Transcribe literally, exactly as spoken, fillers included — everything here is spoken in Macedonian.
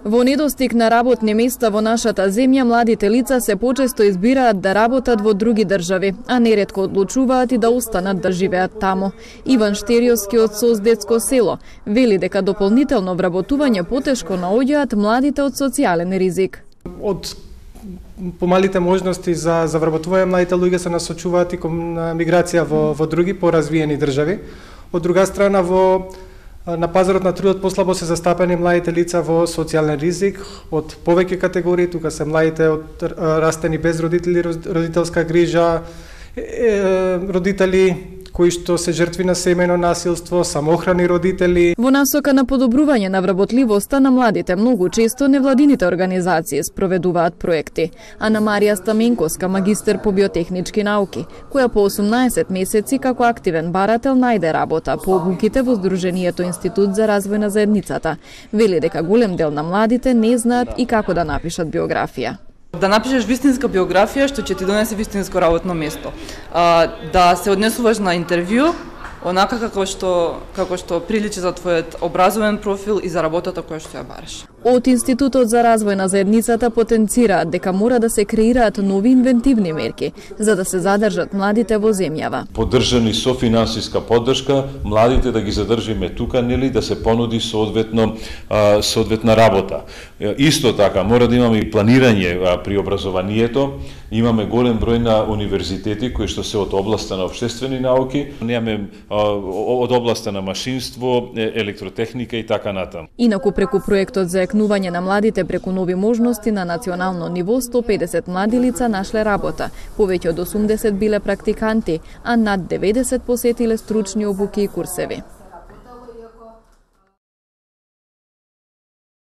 Во недостиг на работни места во нашата земја, младите лица се почесто избираат да работат во други држави, а неретко одлучуваат и да останат да живеат таму. Иван Штериовски од Создетско село вели дека дополнително вработување потешко наоѓаат младите од социјален ризик. Од помалите можности за за вработување, младите луѓе се насочуваат и кон миграција во во други поразвиени држави. Од друга страна, во на пазарот на трудот послабо се застапени младите лица во социјален ризик од повеќе категории. Тука се младите од растени без родители, родителска грижа, родители кои што се жртви на семејно насилство, самоохрани родители. Во насока на подобрување на вработливоста на младите, многу често невладините организации спроведуваат проекти. Ана Марија Стаменковска, магистер по биотехнички науки, која по осумнаесет месеци како активен барател најде работа по обуките во Сдруженијето Институт за развој на заедницата, вели дека голем дел на младите не знаат и како да напишат биографија. Да напишеш вистинска биографија што ќе ти донесе вистинско работно место. А, да се однесуваш на интервју онака како што како што приличи за твојот образовен профил и за работата која што ја бараш. Од Институтот за развој на заедницата потенцираат дека мора да се креираат нови инвентивни мерки за да се задржат младите во земјава. Поддржани со финансиска поддршка, младите да ги задржиме тука, нели, да се понуди соодветно соодветна работа. Исто така мора да имаме и планирање при образованието. Имаме голем број на универзитети кои што се од областа на општествени науки, немаме од областа на машинство, електротехника и така натаму. Инаку преку проектот за екнување на младите преку нови можности на национално ниво, сто педесет млади лица нашле работа, повеќе од осумдесет биле практиканти, а над деветдесет посетиле стручни обуки и курсеви.